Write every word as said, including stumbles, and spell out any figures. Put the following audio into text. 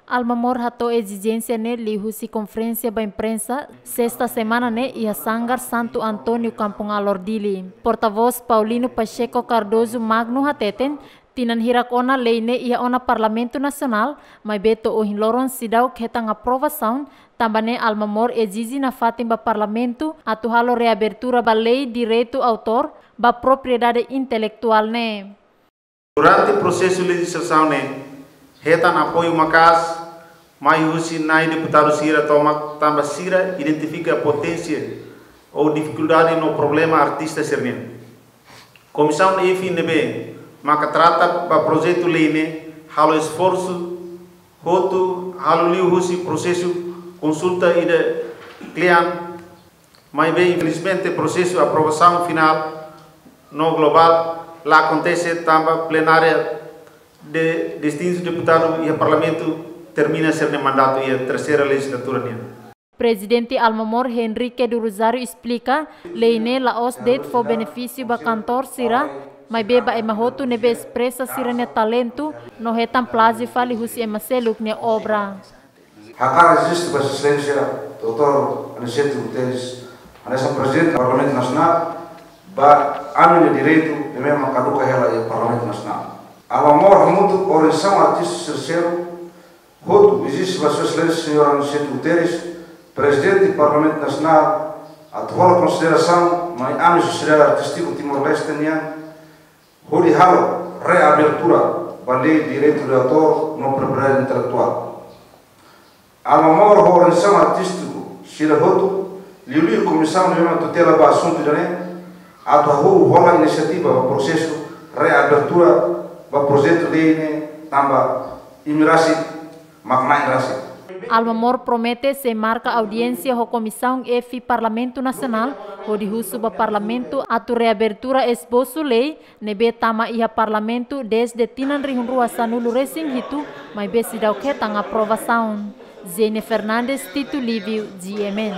Alma Mor hato'o ezijénsia ne'e liuhusi konferénsia ba imprensa sesta semana ne'e iha Sanggar Santo António, Kampung Alor, Dili. Portavós Paulino Pacheco Cardoso Magno hateten, tinan hirak ona lei ne'e iha ona Parlamentu Nasionál, maibé to'o ohin loron seidauk hetan aprovasaun, tanba ne'e Alma Mor ezije nafatin ba Parlamentu atu halo reabertura ba lei direitu autór ba propriedade intelektuál ne'e. Durante prosesu lejislasaun ne'e, hetan apoiu maka'as mai husi na'i deputadu sira tomak, tanba sira identifika poténsia ou difikuldade no problema artista sira-nian. Komisaun F ne'ebé maka trata ba projetu lei ne'e halo esforsu hotu, halo liuhusi prosesu konsulta ida kle'an, maibé infelizmente prosesu aprovasaun finál no globál la akontese, tanba plenária de distintu deputadu iha Parlamentu termina sira-nia mandatu iha terseira lejislatura nian. Prezidente Alma Mor, Henrique do Rosário, esplika, lei ne'e la'ós de'it fó benefísiu ba kantór sira, maibé ba ema hotu ne'ebé espresa sira-nia talentu no hetan plazi fali husi ema seluk nia obra. Hakarak ezije ba Sua Exelénsia doutór Aniceto Guterres, hanesan Prezidente Parlamentu Nasionál, ba ami-nia direitu ne'ebé mak kaduka hela iha Parlamentu Nasionál. Alma Mor hamutuk organizasaun artista sira seluk hotu ezije ba Sua Exelénsia Señór Aniceto Guterres, Prezidente Parlamentu Nasionál, atu hola konsiderasaun mai ami sosiedade artístiku Timor-Leste nian, hodi halo reabertura ba lei direitu de autór no propriedade intelektuál. Alma Mor ho organizasaun artístiku sira hotu, liuliu komisaun ne'ebé mak tutela ba asuntu ida-ne'e, atu hahú hola inisiativa ba prosesu reabertura ba projetu lei ne'e, tanba imi rasik mak na'in rasik. Alma Mor promete sei marka audiénsia ho Komisaun F Parlamentu Nasionál, hodi husu ba Parlamentu atu reabertura esbosu lei ne'ebé tama iha Parlamentu dezde tinan rihun rua sanulu resin hitu, maibé seidauk hetan aprovasaun. Zene Fernandes, Tito Livio, G M N.